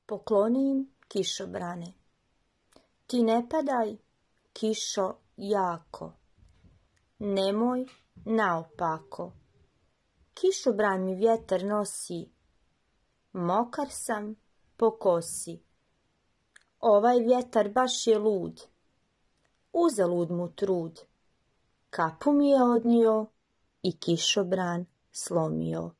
Poklonim kišobrane. Ti ne padaj, kišo, jako. Nemoj naopako. Kišobran mi vjetar nosi. Mokar sam po kosi. Ovaj vjetar baš je lud. Uzalud mu trud. Kapu mi je odnio i kišobran slomio.